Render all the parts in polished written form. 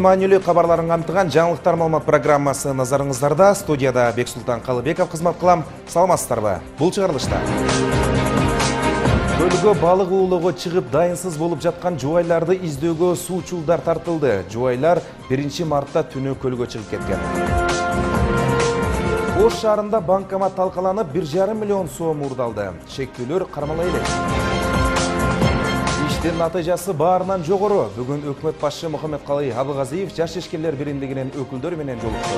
Күндүн маанилүү кабарларын камтыган жаңылыктар маалымат программасы назарыңыздарда. Студияда Бексултан Калыбеков кызмат кылам. Саламатсыздарбы? Бул чыгарылышта көлгө балык уулоого чыгып дайынсыз болуп жаткан жубайларды издөөгө суучулдар тартылды. Жубайлар 1 мартта түнү көлгө чыгып кеткен. Ош шаарында банкомат талкаланып 1,5 миллион сом уурдалды. Шектүүлөр кармала элек. Иштин натыйжасы баарынан жогору. Бүгүн өкмөт башчы Мухаммедкалый Абылгазиев жаш ишкерлер биримдигинин өкүлдөрү менен жолукту.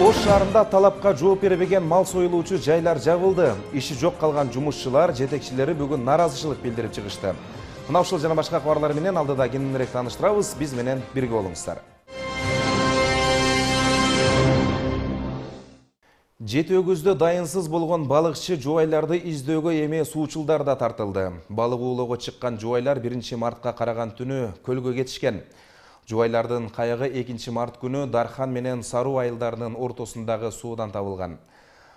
Ош шаарында талапка жооп бербеген мал союлуучу жайлар жабылды. Иши жок калган жумушчулар жетекчилери бүгүн нааразычылык билдирип чыгышты. Мына ушул жана башка кабарлар менен алдыда кененирээк тааныштырабыз. Биз менен бирге болуңуздар. Жети өгүздө дайынсыз болгон балыкчы жубайларды издөөгө эми суучулдар да тартылды. Балык уулоого чыккан жубайлар 1 мартка караган түнү көлгө кетишкен. Жубайлардын кайыгы 2 март күнү Дархан менен Саруу айылдарынын ортосундагы суудан табылган.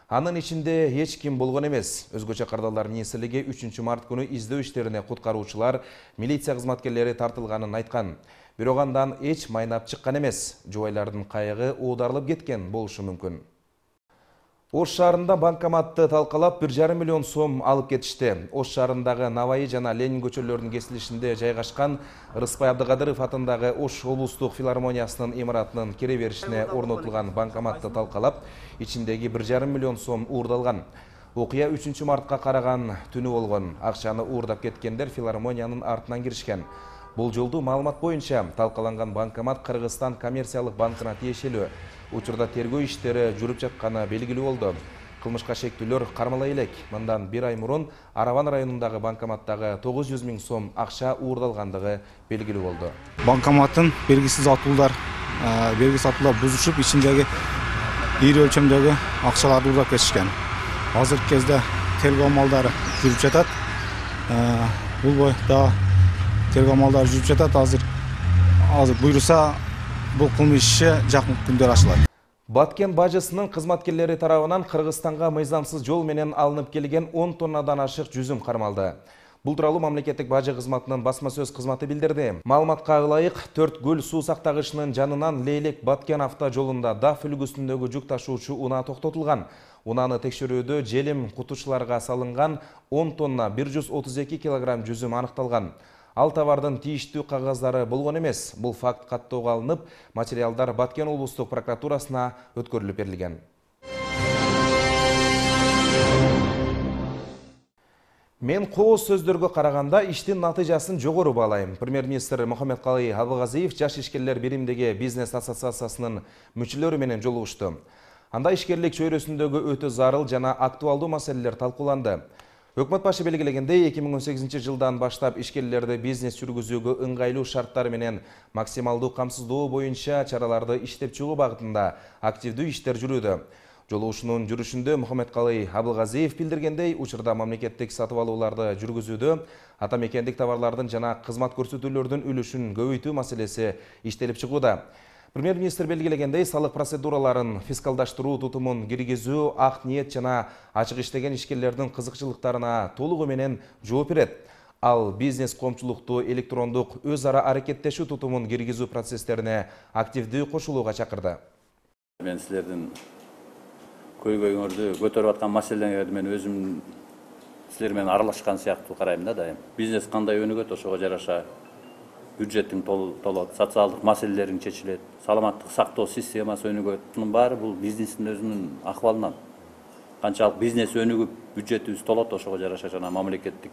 Анын ичинде эч ким болгон эмес. Өзгөчө Кардалар министрлиги 3 март күнү издөө иштерине куткаруучулар, милиция кызматкерлери тартылганын айткан. Бирок андан эч майнап чыккан эмес. Жубайлардын кайыгы оодарылып кеткен болушу мүмкүн. Ош шаарында банкоматты талкалап 1,5 миллион сом алып кетишти. Ош шаарындагы Наваи жана Ленин көчөлөрүнүн кесилишинде жайгашкан Рыспай Абдыкадыров атындагы Ош облустук филармониясынын имаратынын кире беришине орнотулган банкоматты талкалап, ичиндеги 1,5 миллион сом уурдалган. Окуя 3 мартка караган түнү болгон. Акчаны уурдап кеткендер филармониянын артынан киришкен. Бул жолду маалымат боюнча талкаланган банкомат Кыргызстан коммерциялык банкына тиешелүү. Учурда тергөө иштери жүрүп жатканы белгилүү болду. Кылмышка шектүүлөр кармала элек. Мындан 1 ай мурун Араван районундагы банкоматтагы 900 000 сом акча уурдалгандыгы белгилүү болду. Банкоматтын белгисиз атуулар бузушуп, ичиндеги ийри өлчөмдөгү акчаларды уурдап кетишкен. Азыркы кезде тергөө амалдары жүрүп жатат. Бул бойдо тергөө амалдары жүрүп жатат. Азыр буйруса бул кылмыш иши жакын күндөр ачылат. Баткен бажысынын кызматкерлери тарабынан Кыргызстанга мыйзамсыз жол менен алынып келген 10 тоннадан ашык жүзүм кармалды. Бул тууралуу мамлекеттик бажы кызматынын басма сөз кызматы билдирди. Маалыматка ылайык, 4 гүл суу сактагычынын жанынан Лейлек Баткен автожолунда даф үлгүсүндөгү жүк ташуучу унаа токтотулган. Унааны текшерүүдө желим кутучуларга салынган 10 тонна 132 килограмм жүзүм аныкталган. Ал товардын тийиштүү кагаздары болгон эмес. Бул факт каттоого алынып, материалдар Баткен облустук прокуратурасына өткөрүлүп берилген. Мен кооз сөздөргө караганда иштин натыйжасын жогору баалайм. Премьер-министр Мухаммедкалый Абылгазиев жаш ишкерлер биримдиги бизнес ассоциациясынын мүчөлөрү менен жолугушту. Анда ишкерлик чөйрөсүндөгү өтө зарыл жана актуалдуу маселелер талкууланды. Өкмөт башы белгилегендей, 2018 жылдан баштап ишкерлерди бизнес жүргүзүүгө ыңгайлуу шарттар менен максималдуу камсыздоо боюнча чараларды иштеп чыгуу багытында активдүү иштер жүрүүдө. Жолугушуунун жүрүшүндө Мухаммедкалый Абылгазиев билдиргендей, учурда мамлекеттик сатып алууларды жүргүзүүдө ата мекендик товарлардын жана кызмат көрсөтүүлөрдүн үлүшүн көбөйтүү маселеси иштелип чыгууда. Премьер-министр белгилегендей, салык процедураларын фискалдаштыруу тутумун киргизүү ак ниет жана ачык иштеген ишкерлердин кызыкчылыктарына толугу менен жооп берет. Ал бизнес коомчулукту электрондук өз ара аракеттешүү тутумун киргизүү процесстерине активдүү кошулууга чакырды. Мен силердин көйгөйүңөрдү көтөрүп аткан маселелерди мен өзүм силер менен аралашкан сыяктуу карайм да дайым. Бизнес кандай өнүгөт, ошого жараша бюджеттин толот, социалдык маселелериң чечилет, саламаттык сактоо системасы өнүгөт. Мунун баары бул бизнестин өзүнүн акыбалынан. Канчалык бизнес өнүгүп, бюджетибиз толот, ошого жараша жана мамлекеттик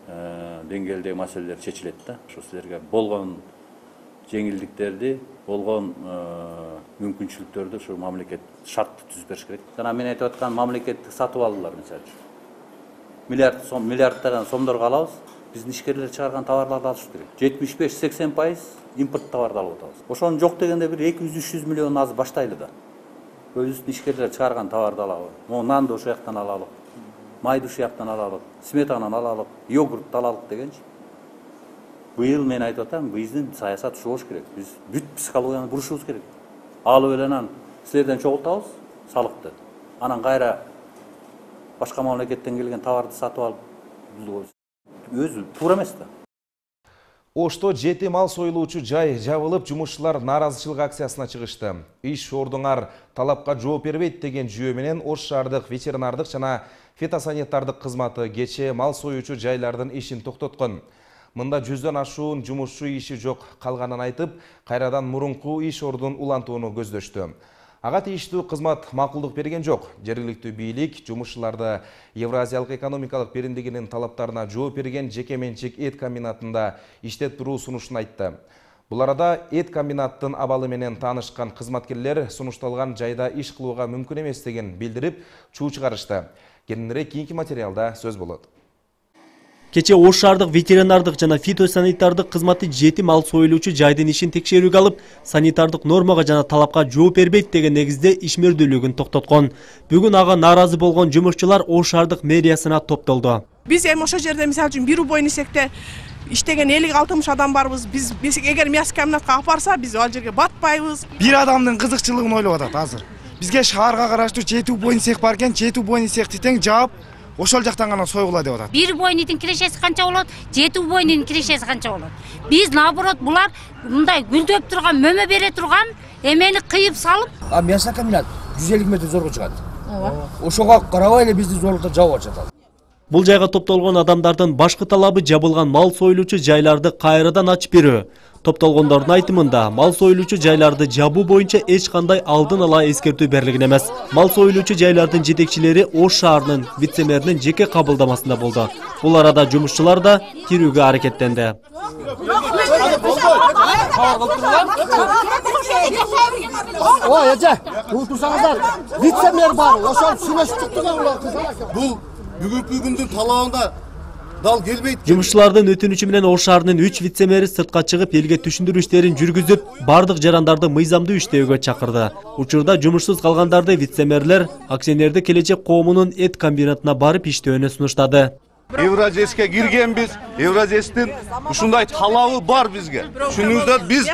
деңгээлдеги маселелер чечилет да. Ошо силерге болгон жеңилдиктерди, болгон мүмкүнчүлүктөрдү ушу мамлекет шартты түзүп бериш керек. Жана мен айтып аткан мамлекеттик сатып алуулар мисалы үчүн миллиарддаган сомдорго алабыз. Биздин ишкерлер чыгарган товарларды алыш керек. 75-80% импорт товарды алып атабыз. Ошону жок дегенде бир 200-300 миллион азыр баштайлы да. Өзүбүздүн ишкерлер чыгарган товарды алалы. Нанды ошол жактан алалы. Майды ушул жактан алалы. Сметананы алалы. Йогуртты алалы дегенчи. Быйыл мен айтып атам, биздин саясат ушул болуш керек. Биз бүт психологияны бурушубуз керек. Алып эле анан силерден чогултабыз салыкты. Анан кайра башка мамлекеттен келген товарды сатып алып өзү туура эмес да. Ошто 7 мал союлуучу жай жабылып, жумушчулар нааразычылык акциясына чыгышты. Иш ордуңар талапка жооп бербейт деген жүйө менен Ош шаардык ветеринардык жана фитосанитардык кызматы кечээ мал союучу жайлардын ишин токтоткон. Мында 100дөн ашуун жумушчу иши жок калганын айтып, кайрадан мурунку иш ордун улантууну көздөштү. Ага тийиштүү кызмат макулдук берген жок. Жергиликтүү бийлик жумушчуларды Евразиялык экономикалык биримдигинин талаптарына жооп берген жеке менчик эт комбинатында иштеп туруу сунушун айтты. Бул арада эт комбинаттын абалы менен таанышкан кызматкерлер сунушталган жайда иш кылууга мүмкүн эместигин билдирип, чуу чыгарышты. Кийинирээк кийинки материалда сөз болот. Кече Ош шаардык ветеринардык жана фитосанитардык кызматы 7 мал союлуучу жайдын ишин текшерүүгө алып, санитардык нормага жана талапка жооп бербейт деген негизде ишмердүүлүгүн токтоткон. Бүгүн ага нааразы болгон жумушчулар Ош шаардык мэриясына топтолду. Биз эми ошол жерде мисалы үчүн бир убойн эсекте иштеген 50-60 адам барбыз. Биз эгер мясо комбинатка апарса, биз ал жерге батпайбыз. Бир адамдын кызыкчылыгын ойлоп атат азыр. Бизге шаарга караштуу 7 убойн эсек бар экен, 7 убойн эсекти тең жаап ошол жактан гана сойгула деп атат. Бир убойнун кирешеси канча болот, 7 убойнун кирешеси канча болот. Биз наоборот булар мындай гүлдөп турган, мөмө бере турган эмени кыйып салып, мясо комбинат 150 метр зорго чыгат. Ошого карабай эле бизди зорлуктап жабып атат. Бул жайга топтолгон адамдардын башкы талабы жабылган мал союлуучу жайларды кайрадан ачып берүү. Топтолгондордун айтымында, мал союлуучу жайларды жабуу боюнча эч кандай алдын ала эскертүү берилген эмес. Мал союлуучу жайлардын жетекчилери Ош шаарынын вице-мэринин жеке кабылдамасында болду. Бул арада жумушчулар да кирүүгө аракеттенди. Ой, эже, турсаңыздар, вице-мэр бар, ошол сүйлөшүп чыктыган бул бүгүнкү күндүн талабында дал келбейт. Жумушчулардын өтүнүчү менен Ош шаарынын 3 вице-мэри сыртка чыгып, элге түшүндүрүү иштерин жүргүзүп, бардык жарандарды мыйзамдуу иштөөгө чакырды. Учурда жумушсуз калгандарды вице-мэрлер акционердик келечек коомунун эт комбинатына барып иштөөнү сунуштады. Евразеске киргенбиз, Евразестин ушундай талабы бар бизге. Түшүнүңүздөр, биз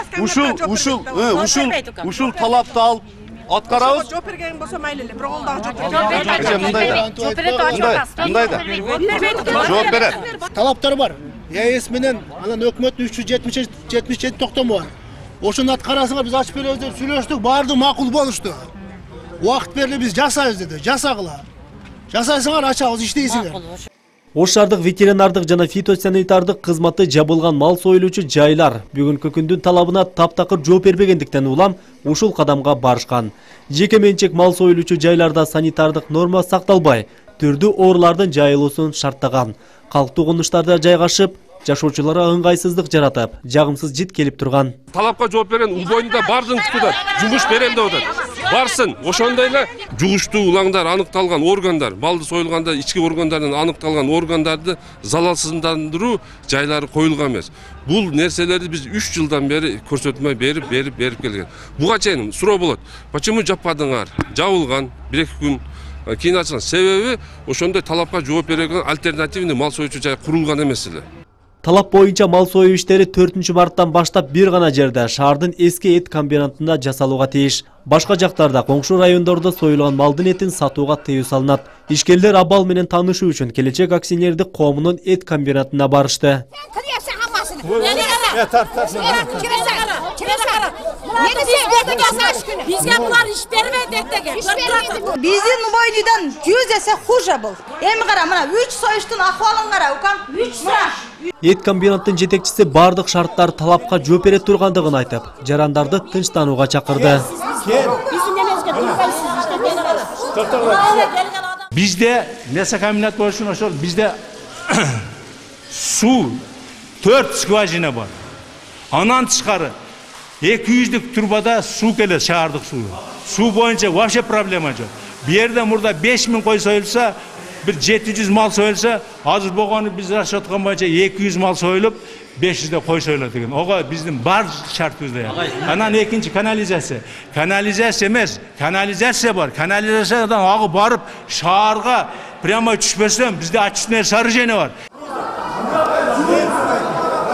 ушул талапты алып аткарабыз. Жооп берген болсо майлы эле, бирок ол дагы жооп берет. Талаптар бар. ЭС менен анан өкмөттүн 377 токтому бар. Ошону аткарасыңар, биз ачып беребиз деп сүйлөштүк, баарды макул болушту. Убакыт берди, биз жасайбыз деди, жасагыла. Жасайсыңар, ачабыз, иштейсиңер. Ош шаардык ветеринардык жана фитосанитардык кызматы жабылган мал союлуучу жайлар бүгүнкү күндүн талабына таптакыр жооп бербегендиктен улам ушул кадамга барышкан. Жеке менчик мал союлуучу жайларда санитардык норма сакталбай, түрдүү оорулардын жайылуусун шарттаган. Калктуу конуштарда жайгашып, жашоочуларга ыңгайсыздык жаратып, жагымсыз жит келип турган. Талапка жооп берген убойнда бардын күтүп жумуш берем деп атат. Барсын, ошондой эле жугуштуу улаңдар аныкталган органдар, балды союлганда ички органдардан аныкталган органдарды залалсыздандыруу жайлары коюлган эмес. Бул нерселерди биз 3 жылдан бери көрсөтмөй берип келген. Буга чейин суроо болот. Почему жаппадыңар? Жабылган 1-2 күн кийин ачылган. Себеби ошондой талапка жооп берген альтернативный мал союучу жай курулган эмес эле. Талап боюнча мал союу иштери 4-марттан баштап бир гана жерде шаардын эски эт комбинатында жасалууга тийиш. Башка жактарда коңшу райондордо союлган малдын этин сатууга тыюу салынат. Ишкерлер абал менен таанышуу үчүн келечек акционердик коомунун эт комбинатына барышты. Бизге булар иш бербейт деген. Биздин убойнудан 100 эсе хуже бул. Эми кара, мына 3 союштун акыбалын кара, укам. 3 Эт комбинаттын жетекчиси бардык шарттар талапка жооп бере тургандыгын айтып, жарандарды тынчтанууга чакырды. Бизде мясо комбинат болушун ошол бизде суу 4 скважина бар. Анан тышкары 200-дük турбада суу келет, шаардык суу. Суу боюнча вообще проблема жок. Бу жерде мурда 5000 кой союлса, bir 700 mal soyulsa, azır boğanı biz raşatkan boyunca 200 mal soyulup 500 de koy soyuladı. Oga bizim bar şartımızda ya. Anan ikinci kanalizasyon. Kanalizasyon emez, kanalizasyon var. Kanalizasyondan ağı barıp şaharga prema düşmesem bizde açısınlar sarı jeni var.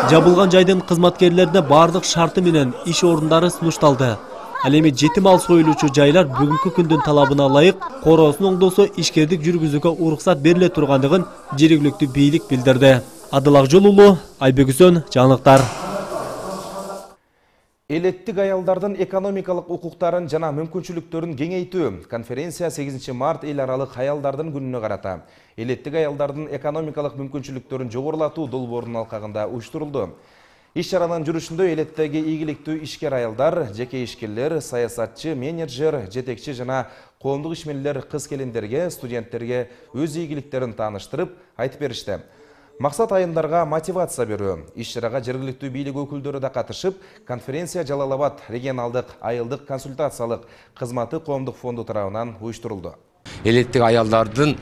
Жабылган жайдын кызматкерлерине бардык шарты менен иш орундары сунушталды. Ал эми 7 мал союлуучу жайлар бүгүнкү күндүн талабына ылайык короосун оңдосо ишкердик жүргүзүүгө уруксат бериле тургандыгын жергиликтүү бийлик билдирди. Адыл Акжол уулу, Айбек Үсөн, жаңылыктар. Элеттик аялдардын экономикалык укуктарын жана мүмкүнчүлүктөрүн кеңейтүү. Конференция 8 март эл аралык аялдардын күнүнө карата элеттик аялдардын экономикалык мүмкүнчүлүктөрүн жогорулатуу долбоорунун алкагында уюштурулду. Иш-чаранын жүрүшүндө элеттеги ийгиликтүү ишкер аялдар, жеке ишкерлер, саясатчы, менеджер, жетекчи жана коомдук ишмерлер кыз-келиндерге, студенттерге өз ийгиликтерин тааныштырып, айтып беришти. Максат айындарга мотивация берүү. Иш-чарага жергиликтүү бийлик өкүлдөрү да катышып, конференция Жалал Абад регионалдык айылдык консультациялык кызматы коомдук фонду тарабынан уюштурулду. Элеттик аялдардын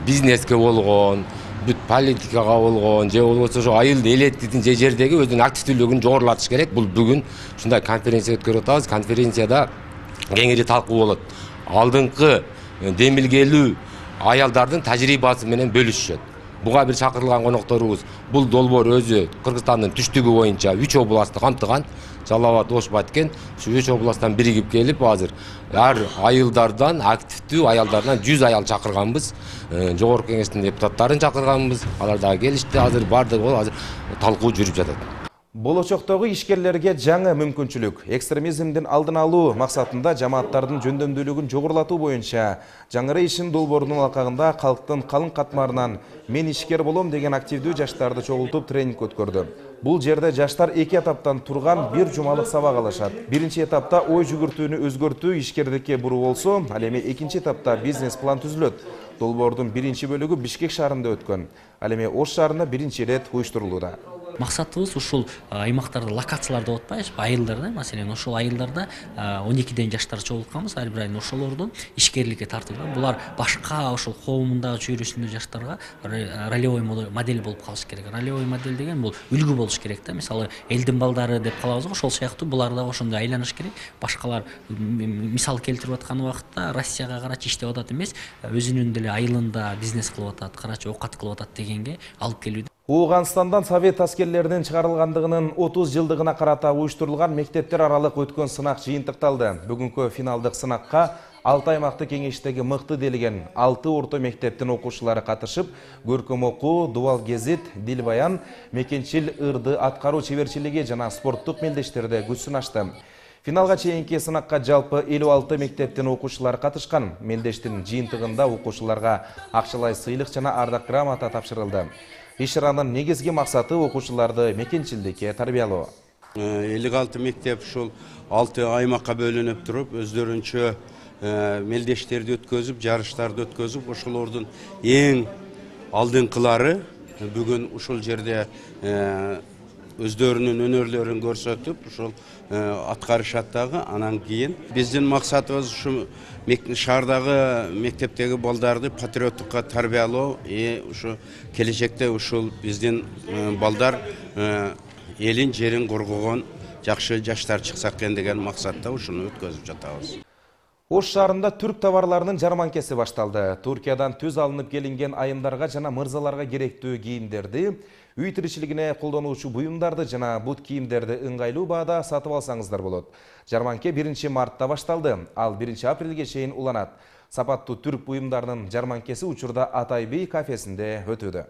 бизнеске болгон, бүт политикага болгон, же болбосо ошо айыл элеттиктин же жердеги өзүнүн активдүүлүгүн жогорулатыш керек. Бул бүгүн ушундай конференция өткөрүп атабыз. Конференцияда кеңири талкуу болот. Алдыңкы демилгелүү аялдардын тажрыйбасы менен бөлүшүшөт. Буга бир чакырылган конокторубуз бул долбоор өзү Кыргызстандын түштүгү боюнча 3 областты камтыган. Жалал Абад, Ош, Баткен ушу 3 областтан биригип келип, азыр ар айылдардан, активдүү аялдардан 100 аял чакырганбыз. Жогорку кеңештин депутаттарын чакырганбыз. Алар дагы келишти. Азыр бардыгы азыр талкуу жүрүп жатат. Болочоктогу ишкерлерге жаңы мүмкүнчүлүк. Экстремизмдин алдын алуу максатында жамааттардын жөндөмдүүлүгүн жогорулатуу боюнча жаңыры ишин долбоорунун алкагында калктын калың катмарынан мен ишкер болом деген активдүү жаштарды чогултуп тренинг өткөрдү. Бул жерде жаштар 2 этаптан турган бир жумалык сабак алышат. Биринчи этапта ой жүгүртүүнү өзгөртүү ишкердикке буруу болсо, ал эми экинчи этапта бизнес план түзүлөт. Долбоордун биринчи бөлүгү Бишкек шаарында өткөн. Ал эми Ош шаарында биринчи ирет уюштурулууда. Максатыбыз ушул аймактарда локацияларда деп атпайбызбы, айылдарда, маселен ошол айылдарда 12ден жаштар чогултканбыз, ар бир айын ошолордун ишкерликке тартылган. Булар башка ошол коомундагы чөйрөсүндө жаштарга ролевой модель болуп калыш керек. Ролевой модель деген бул үлгү болуш керек да. Мисалы элдин балдары деп калабыз, ошол сыяктуу булар да ошондой айланыш керек. Башкалар мисал келтирип аткан убакытта Россияга карачы иштеп атат эмес, өзүнүн деле айылында бизнес кылып атат, карачы оокат кылып атат дегенге алып келүүдө. Ооганстандан Совет аскерлеринин чыгарылгандыгынын 30 жылдыгына карата уюштурулган мектептер аралык өткөн сынак жыйынтыкталды. Бүгүнкү финалдык сынакка 6 аймактык кеңештеги мыкты делген 6 орто мектептин окуучулары катышып, көркөм окуу, дубал гезит, дил баян, мекенчил ырды аткаруу чеберчилиги жана спорттук мелдештерде күч сынашты. Финалга чейинки сынакка жалпы 56 мектептин окуучулары катышкан. Мелдештин жыйынтыгында окуучуларга акчалай сыйлык жана ардак грамота тапшырылды. Иш-чаранын негизги максаты окуучуларды мекенчилдикке тарбиялоо. 56 мектеп ушул 6 аймакка бөлүнүп туруп, өздөрүнчө мелдештерди өткөзүп, жарыштарды өткөзүп, ошолордун эң алдыңкылары бүгүн ушул жерде өздөрүнүн өнөрлөрүн көрсөтүп, ушул аткарышат дагы. Анан кийин биздин максатыбыз ушу шаардагы мектептеги балдарды патриоттукка тарбиялоо, ушу келечекте ушул биздин балдар элин жерин коргогон жакшы жаштар чыкса экен деген максатта ушуну өткөзүп жатабыз. Ош шаарында түрк товарларынын жарманкеси башталды. Туркиядан түз алынып келинген айымдарга жана мырзаларга керектүү кийимдерди, үй тиричилигине колдонуучу буюмдарды жана бут кийимдерди ыңгайлуу баада сатып алсаңыздар болот. Жарманке 1 мартта башталды, ал 1 апрелге чейин уланат. Сапаттуу түрк буюмдарынын жарманкеси учурда Атай би кафесинде өтүүдө.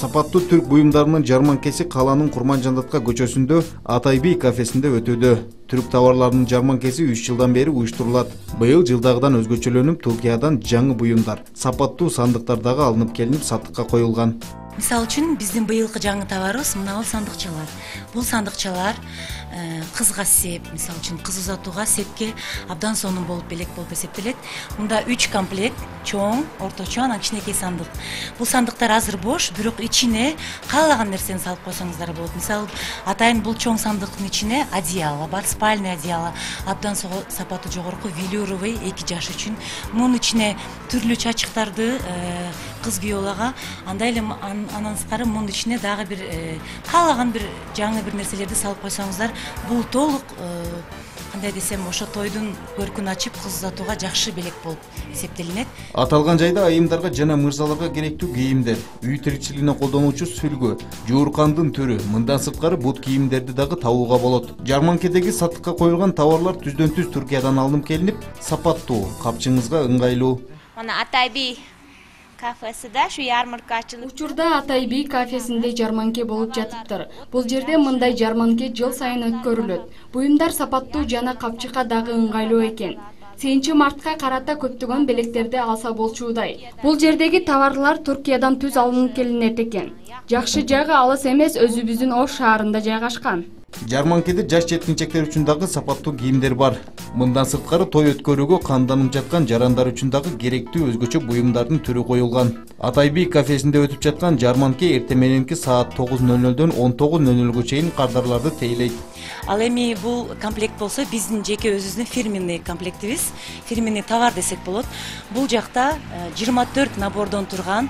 Сапаттуу түрк буюмдарынын жарманкеси калаанын Курманжандатка көчөсүндө Атай би кафесинде өтүүдө. Түрк товарларынын жарманкеси 3 жылдан бери уюштурулат. Быйыл жылдагыдан өзгөчөлөнүп, Туркиядан жаңы буюмдар, сапаттуу сандыктар дагы алынып келинип сатыкка коюлган. Мисалы үчүн биздин быйылкы жаңы товарыбыз мына сандыкчалар. Бул сандыкчалар кызга сеп, мисалы үчүн кыз узатууга сепке абдан сонун болуп эсептелет. Мында 3 комплект, чоң, орточо, анан кичинекей сандык. Бул сандыктар азыр бош, бирок ичине каалаган нерсени салып койсоңуздар болот. Мисалы, атайын бул чоң сандыктын ичине одеяло бар, спальный одеяло, абдан сапаты жогорку велюровый 2 жаш үчүн. Мунун ичине түрлүү чачыктарды кыз күйөөлөргө, андай эле анан сырткары мунун ичине дагы бир каалаган бир жаңы бир нерселерди салып койсоңуздар, бул толук кандай десем ошо тойдун көркүн ачып кыз узатууга жакшы белек болуп эсептелинет. Аталган жайда айымдарга жана мырзаларга керектүү кийимдер, үй тиричилигине колдонуучу сүлгү, жууркандын түрү, мындан сырткары бут кийимдерди дагы табууга болот. Жарманкедеги сатыкка коюлган товарлар түздөн түз Түркиядан алынып келинип, сапаттуу, капчыгыңызга ыңгайлуу. Мына Атайби кафесиде шу ярмарка ачылып. Учурда Атайби кафесинде жарманке болуп жатыптыр. Бул жерде мындай жарманке жыл сайын өткөрүлөт. Буюмдар сапаттуу жана капчыкка дагы ыңгайлуу экен. 8-мартка карата көптөгөн белектерди алса болчудай. Бул жердеги товарлар Түркиядан түз алынып келинет экен. Жакшы жагы алыс эмес, өзүбүздүн Ош шаарында жайгашкан. Жарманкеде жаш жеткинчектер үчүн дагы сапаттуу кийимдер бар. Мындан сырткары той өткөрүүгө канданып жаткан жарандар үчүн дагы керектүү өзгөчө буюмдардын түрү коюлган. Атайби кафесинде өтүп жаткан жарманке эртең мененки саат 9:00дөн 19:00га чейин кардарларды тейлейт. Ал эми бул комплект болсо биздин жеке өзүбүздүн фирменный комплектибиз, фирменный товар десек болот. Бул жакта 24 набордон турган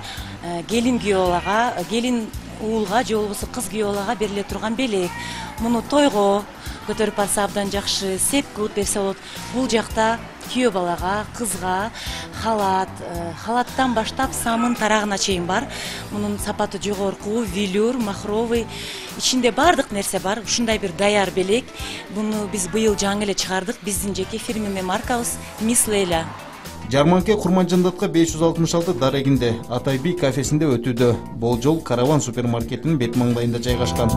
келин күйөөларга, келин уулга же болбосо кыз күйөөларга бериле турган белек. Муну тойго көтөрүп барса абдан жакшы, сеп кылып берсе болот. Бул жакта күйөө балага, кызга халат, халаттан баштап самын тарагына чейин бар. Мунун сапаты жогорку, велюр, махровый, ичинде бардык нерсе бар. Ушундай бир даяр белек. Буну биз быйыл жаңы эле чыгардык. Биздин жеке фирменный маркабыз Мисс Лейла. Жарманке Курманжандатка 566 дарегинде Атайби кафесинде өтүүдө. Болжол Караван супермаркетинин бет маңдайында жайгашкан.